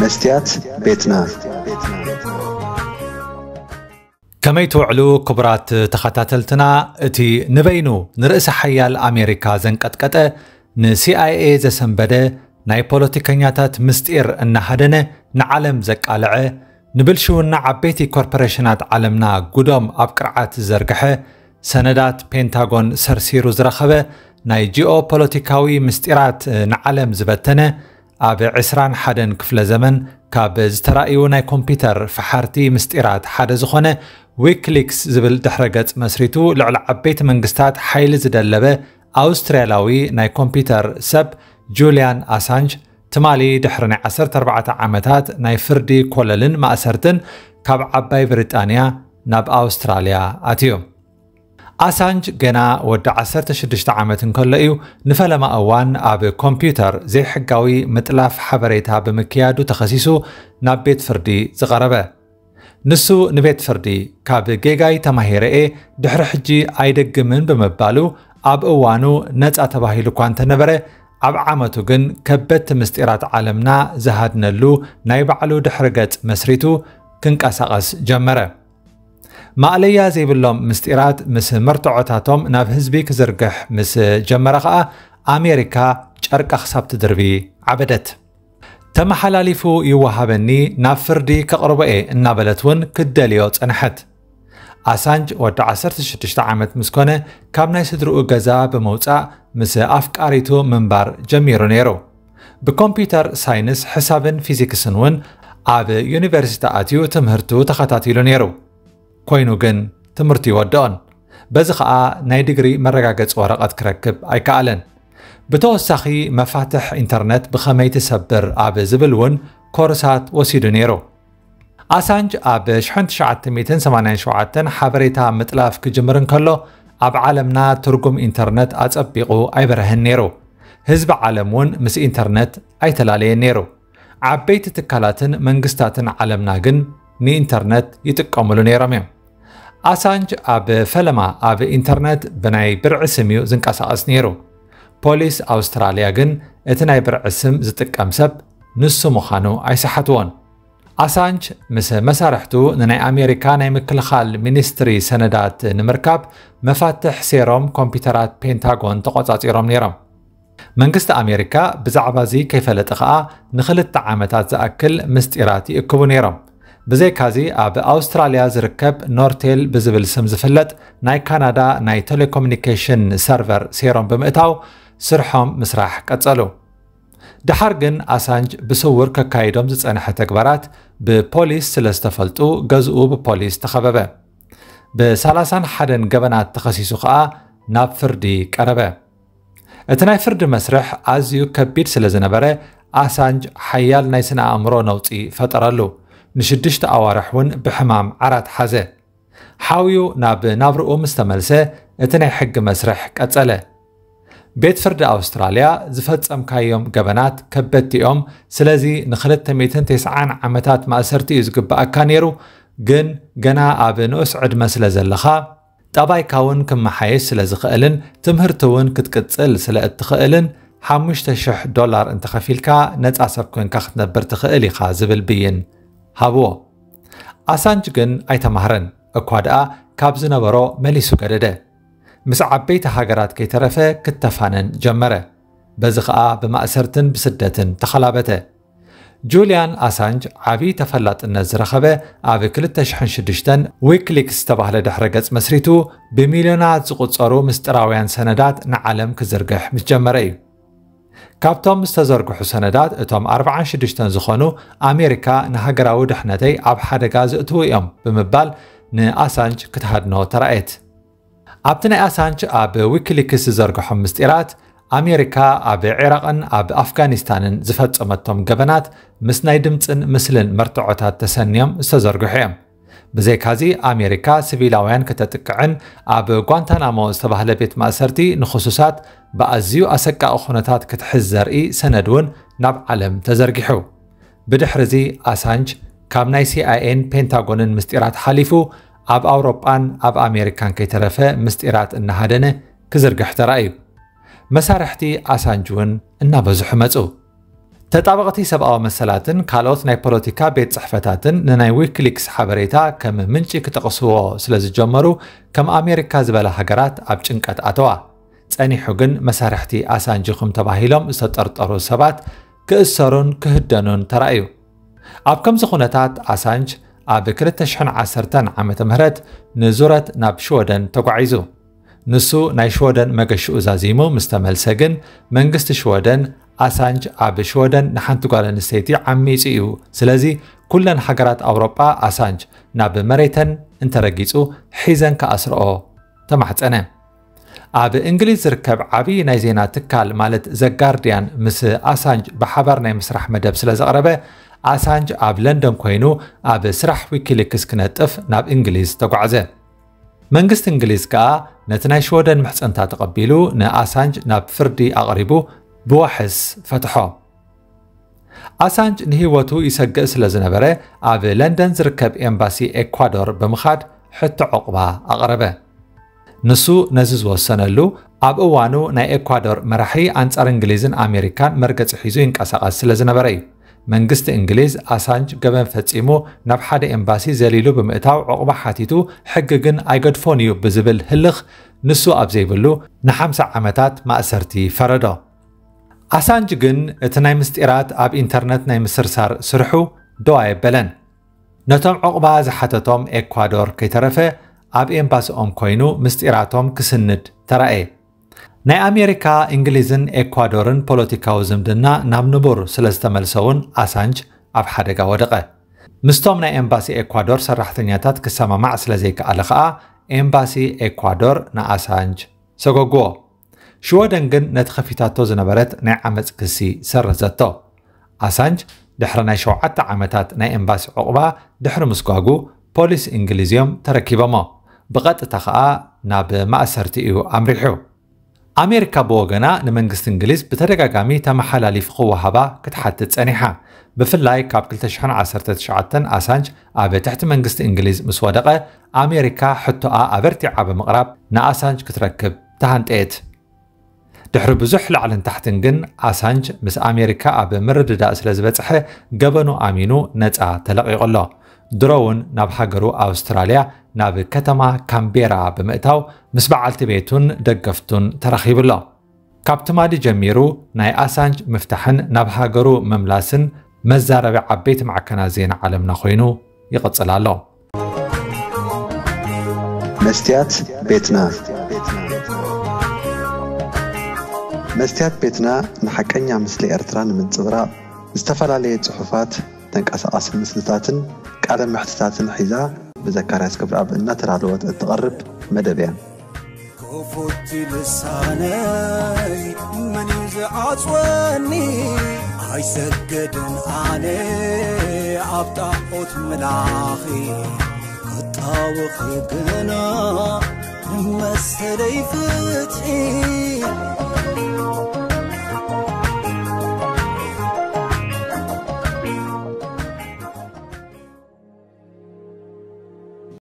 መስትያት ቤትና። ከመይ ትውዕሉ ክቡራት ተኸታተልትና? እቲ ንበይኑ ንርእሰ ሓያል ኣሜሪካ ዘንቀጥቀጠ፣ ንሲኣይኤ ዘሰንበደ፣ ናይ ፖለቲከኛታት ምስጢር እናሃደነ ንዓለም ዘቃልዐ፣ ንብልሽውና ዓበይቲ ኮርፖሬሽናት ዓለምና ጉዶም ኣብ ቅርዓት ዝዘርግሐ፣ ሰነዳት ፔንታጎን ሰርሲሩ ዝረኸበ፣ ናይ ጂኦ ፖለቲካዊ ምስጢራት ንዓለም ዝበተነ፣ ኣብ ዕስራን ሓደን ክፍለ ዘመን ካብ ዝተራእዩ ናይ ኮምፒውተር ፈሓርቲ ምስጢራት ሓደ ዝኾነ ዊክሊክስ ዝብል ድሕረ ገጽ መስሪቱ ልዕሊ ዓበይቲ መንግስታት ሓይሊ ዝደለበ ኣውስትርያላዊ ናይ ኮምፒውተር ሰብ ጁልያን ኣሳንጅ ትማሊ ድሕሪ ናይ ዓሰርተ ኣርባዕተ ዓመታት ናይ ፍርዲ ኮለልን ማእሰርትን ካብ ዓባይ ብሪጣንያ ናብ ኣውስትራልያ ኣትዩ። ኣሳንጅ ገና ወዲ ዓሰርተ ሽዱሽተ ዓመት እንከሎ እዩ ንፈለማ እዋን ኣብ ኮምፒውተር ዘይሕጋዊ ምጥላፍ ሓበሬታ ብምክያዱ ተኸሲሱ ናብ ቤት ፍርዲ ዝቐረበ። ንሱ ንቤት ፍርዲ ካብ ጌጋይ ተማሂረ እየ፣ ድሕሪ ሕጂ ኣይደግምን ብምባሉ ኣብ እዋኑ ነጻ ተባሂሉ እኳ እንተነበረ፣ ኣብ ዓመቱ ግን ከበድቲ ምስጢራት ዓለምና ዝሃድነሉ ናይ ባዕሉ ድሕሪ ገጽ መስሪቱ ክንቀሳቐስ ጀመረ። ማእለያ ዘይብሎም ምስጢራት ምስ መርትዖታቶም ናብ ህዝቢ ክዝርግሕ ምስ ጀመረ ኸኣ ኣሜሪካ ጨርቃ ክሳብ ትድርቢ ዓበደት። ተመሓላሊፉ ይወሃበኒ፣ ናብ ፍርዲ ከቕርቦ እየ እናበለት እውን ክትደልዮ ጸንሐት። ኣሳንጅ ወዲ ዓሰርተ ሽዱሽተ ዓመት ምስ ኮነ ካብ ናይ ስድርኡ ገዛ ብምውጻእ ምስ ኣፍቃሪቱ ምንባር ጀሚሩ ነይሩ። ብኮምፒውተር ሳይንስ፣ ሕሳብን ፊዚክስን እውን ኣብ ዩኒቨርሲቲ ኣትዩ ትምህርቱ ተኸታቲሉ ነይሩ። ኮይኑ ግን ትምህርቱ ይወድኦን። በዚ ኸኣ ናይ ዲግሪ መረጋገጺ ወረቐት ክረክብ ኣይከኣለን። ብተወሳኺ መፋትሕ ኢንተርነት ብኸመይ ትሰብር ኣብ ዝብል እውን ኮርሳት ወሲዱ ነይሩ። ኣሳንጅ ኣብ ሽሕን ትሽዓተ ሚእትን ሰማንያን ሸውዓተን ሓበሬታ ምጥላፍ ክጅምር እንከሎ ኣብ ዓለምና ትርጉም ኢንተርነት ኣጸቢቑ ኣይበረህን ነይሩ። ህዝቢ ዓለም እውን ምስ ኢንተርነት ኣይተላለየን ነይሩ። ዓበይቲ ትካላትን መንግስታትን ዓለምና ግን ንኢንተርነት ይጥቀሙሉ ነይሮም እዮም። ኣሳንጅ ኣብ ፈለማ ኣብ ኢንተርነት ብናይ ብርዒ ስም እዩ ዝንቀሳቐስ ነይሩ። ፖሊስ ኣውስትራልያ ግን እቲ ናይ ብርዒ ስም ዝጥቀም ሰብ ንሱ ምዃኑ ኣይሰሓትዎን። ኣሳንጅ ምስ መሳርሕቱ ንናይ ኣሜሪካ ናይ ምክልኻል ሚኒስትሪ ሰነዳት ንምርካብ መፋትሕ ሴሮም ኮምፒውተራት ፔንታጎን ተቖጻጺሮም ነይሮም። መንግስቲ ኣሜሪካ ብዛዕባ እዚ ከይፈለጠ ኸኣ ንኽልተ ዓመታት ዝኣክል ምስጢራት ይእክቡ ነይሮም። ብዘይካዚ ኣብ ኣውስትራልያ ዝርከብ ኖርቴል ብዝብል ስም ዝፍለጥ ናይ ካናዳ ናይ ቴሌኮሙኒኬሽን ሰርቨር ሴሮም ብምእታው ስርሖም ምስራሕ ቀጸሉ። ደሓር ግን ኣሳንጅ ብስውር ከካይዶም ዝጸንሐ ተግባራት ብፖሊስ ስለ ዝተፈልጡ ገዝኡ ብፖሊስ ተኸበበ። ብሰላሳን ሓደን ገበናት ተኸሲሱ ኸኣ ናብ ፍርዲ ቀረበ። እቲ ናይ ፍርዲ መስርሕ ኣዝዩ ከቢድ ስለ ዝነበረ ኣሳንጅ ሓያል ናይ ስነ ኣእምሮ ነውጺ ፈጠረሉ። ንሽዱሽተ ኣዋርሕ እውን ብሕማም ዓራት ሓዘ። ሓውዩ ናብ ናብርኡ ምስ ተመልሰ እቲ ናይ ሕጊ መስርሕ ቀጸለ። ቤት ፍርዲ ኣውስትራልያ ዝፈጸምካዮም ገበናት ከበድቲ እዮም፣ ስለዚ ንክልተ ሚእትን ተስዓን ዓመታት ማእሰርቲ እዩ ዝግብኣካ ነይሩ፣ ግን ገና ኣብ ንኡስ ዕድመ ስለ ዘለኻ ጠባይካ እውን ክመሓየሽ ስለ ዝኽእልን ትምህርቲ እውን ክትቅጽል ስለ እትኽእልን ሓሙሽተ ሽሕ ዶላር እንተኸፊልካ ነጻ ሰብ ኮንካ ክትነብር ትኽእል ኢኻ ዝብል ብይን ሃብዎ። ኣሳንጅ ግን ኣይተማህረን እኳ ደኣ ካብ ዝነበሮ መሊሱ ገደደ። ምስ ዓበይቲ ሃገራት ከይተረፈ ክተፋነን ጀመረ። በዚ ኸኣ ብማእሰርትን ብስደትን ተኸላበተ። ጁልያን ኣሳንጅ ዓቢ ተፈላጥነት ዝረኸበ ኣብ ክልተ ሽሕን ሽዱሽተን ዊክሊክስ ዝተባህለ ድሕረ ገጽ መስሪቱ ብሚልዮናት ዝቑጸሩ ምስጢራውያን ሰነዳት ንዓለም ክዝርግሕ ምስ ጀመረ እዩ። ካብቶም ዝተዘርግሑ ሰነዳት እቶም ኣርባዓን ሽዱሽተን ዝኾኑ ኣሜሪካ ንሃገራዊ ድሕነተይ ኣብ ሓደጋ ዘእትዉ እዮም ብምባል ንኣሳንጅ ክትሃድኖ ተራእየት። ኣብቲ ናይ ኣሳንጅ ኣብ ዊኪሊክስ ዝዘርግሖም ምስጢራት ኣሜሪካ ኣብ ዒራቕን ኣብ ኣፍጋኒስታንን ዝፈጸመቶም ገበናት ምስ ናይ ድምጽን ምስልን መርትዖታት ተሰንዮም ዝተዘርግሑ እዮም። ብዘይካዚ ኣሜሪካ ሲቪላውያን ከተጥቅዕን ኣብ ጓንታናሞ ዝተባህለ ቤት ማእሰርቲ ንኽሱሳት ብኣዝዩ ኣሰቃቒ ኩነታት ክትሕዝ ዘርኢ ሰነድ እውን ናብ ዓለም ተዘርጊሑ። ብድሕርዚ ኣሳንጅ ካብ ናይ ሲኣይኤን ፔንታጎንን ምስጢራት ሓሊፉ ኣብ ኣውሮጳን ኣብ ኣሜሪካን ከይተረፈ ምስጢራት እናሃደነ ክዝርግሕ ተራእዩ። መሳርሕቲ ኣሳንጅ እውን እናበዝሑ መጹ። ተጣበቕቲ ሰብኣዊ መሰላትን ካልኦት ናይ ፖለቲካ ቤት ጽሕፈታትን ንናይ ዊኪሊክስ ሓበሬታ ከም ምንጪ ክጠቕስዎ ስለ ዝጀመሩ፣ ከም ኣሜሪካ ዝበላ ሃገራት ኣብ ጭንቀት ኣተዋ። ጸኒሑ ግን መሳርሕቲ ኣሳንጅ ኢኹም ተባሂሎም ዝተጠርጠሩ ሰባት ክእሰሩን ክህደኑን ተራእዩ። ኣብ ከምዚ ኩነታት ኣሳንጅ ኣብ ክልተ ሽሕን ዓሰርተን ዓመተ ምህረት ንዙረት ናብ ሽወደን ተጓዒዙ። ንሱ ናይ ሽወደን መገሽኡ ዛዚሙ ምስ ተመልሰ ግን መንግስቲ ሽወደን ኣሳንጅ ኣብ ሽወደን ንሓንቲ ጓል ኣንስተይቲ ዓሚጹ እዩ። ስለዚ ኩለን ሃገራት ኣውሮጳ ኣሳንጅ ናብ መሬተን እንተረጊጹ ሒዘን ክኣስርኦ ተማሕጸነ። ኣብ እንግሊዝ ዝርከብ ዓብዪ ናይ ዜና ትካል ማለት ዘ ጋርዲያን ምስ ኣሳንጅ ብሓባር ናይ ምስራሕ መደብ ስለ ዘቕረበ ኣሳንጅ ኣብ ለንደን ኮይኑ ኣብ ስራሕ ዊኪሊክስ ክነጥፍ ናብ እንግሊዝ ተጓዕዘ። መንግስቲ እንግሊዝ ከኣ ነቲ ናይ ሽወደን ምሕጽንታ ተቐቢሉ ንኣሳንጅ ናብ ፍርዲ ኣቕሪቡ ብዋሕስ ፈትሖ። ኣሳንጅ ንህይወቱ ይሰግእ ስለ ዝነበረ ኣብ ለንደን ዝርከብ ኤምባሲ ኤኳዶር ብምኻድ ሕቶ ዑቕባ ኣቕረበ። ንሱ ነዚ ዝወሰነሉ ኣብ እዋኑ ናይ ኤኳዶር መራሒ ኣንጻር እንግሊዝን ኣሜሪካን መርገጺ ሒዙ ይንቀሳቐስ ስለ ዝነበረ እዩ። መንግስቲ እንግሊዝ ኣሳንጅ ገበን ፈጺሙ ናብ ሓደ ኤምባሲ ዘሊሉ ብምእታው ዑቕባ ሓቲቱ ሕጊ ግን ኣይገድፎን እዩ ብዝብል ህልኽ ንሱ ኣብ ዘይብሉ ንሓምሳ ዓመታት ማእሰርቲ ፈረዶ። ኣሳንጅ ግን እቲ ናይ ምስጢራት ኣብ ኢንተርነት ናይ ምስርሳር ስርሑ ደው ኣየበለን። ነቶም ዑቕባ ዝሓተቶም ኤኳዶር ከይተረፈ ኣብ ኤምባሲኦም ኮይኑ ምስጢራቶም ክስንድ ተራእየ። ናይ ኣሜሪካ፣ እንግሊዝን ኤኳዶርን ፖለቲካዊ ዝምድና ናብ ንቡር ስለ ዝተመልሰ እውን ኣሳንጅ ኣብ ሓደጋ ወደቐ። ምስቶም ናይ ኤምባሲ ኤኳዶር ሰራሕተኛታት ክሰማማዕ ስለ ዘይከኣለ ከኣ ኤምባሲ ኤኳዶር ንኣሳንጅ ሰጎግዎ። ሽወደን ግን ነቲ ከፊታቶ ዝነበረት ናይ ዓመጽ ክሲ ሰረዘቶ። ኣሳንጅ ድሕሪ ናይ ሸውዓተ ዓመታት ናይ ኤምባሲ ዑቕባ ድሕሪ ምስጓጉ ፖሊስ እንግሊዝ እዮም ተረኪቦሞ። ብቐጥታ ከኣ ናብ ማእሰርቲ እዩ ኣምሪሑ። ኣሜሪካ ብወገና ንመንግስቲ እንግሊዝ ብተደጋጋሚ ተመሓላሊፉ ክወሃባ ክትሓትት ጸኒሓ። ብፍላይ ካብ ክልተ ሽሕን ዓሰርተ ትሽዓተን ኣሳንጅ ኣብ ትሕቲ መንግስቲ እንግሊዝ ምስ ወደቐ ኣሜሪካ ሕቶኣ ኣበርቲዓ ብምቕራብ ንኣሳንጅ ክትረክብ ተሃንጠየት። ድሕሪ ብዙሕ ላዕልን ታሕትን ግን ኣሳንጅ ምስ ኣሜሪካ ኣብ ምርድዳእ ስለ ዝበጽሐ ገበኑ ኣሚኑ ነጻ ተለቒቑ ኣሎ። ድሮ እውን ናብ ሃገሩ ኣውስትራልያ ናብ ከተማ ካምቤራ ብምእታው ምስ በዓልቲ ቤቱን ደገፍቱን ተራኺቡ ኣሎ። ካብ ትማሊ ጀሚሩ ናይ ኣሳንጅ ምፍታሕን ናብ ሃገሩ ምምላስን መዛረቢ ዓበይቲ ማዕከናት ዜና ዓለምና ኮይኑ ይቕጽል ኣሎ። መስትያት ቤትና። መስትያት ቤትና ንሓቀኛ ምስሊ ኤርትራ ንምንጽብራቕ ዝተፈላለየ ጽሑፋት፣ ተንቀሳቓሲ ምስልታትን ቃለ መሕትታትን ሒዛ ብዘካርያስ ገብረኣብ እናተዳለወት እትቐርብ መደብ እያ። ክፉት ልሳነይ መን እዩ ዝዓጽወኒ? ኣይሰግድን ኣነ ኣብ ጣዖት ምላኺ፣ ክጣወኺ ግና ንመሰለይ ፍትሒ።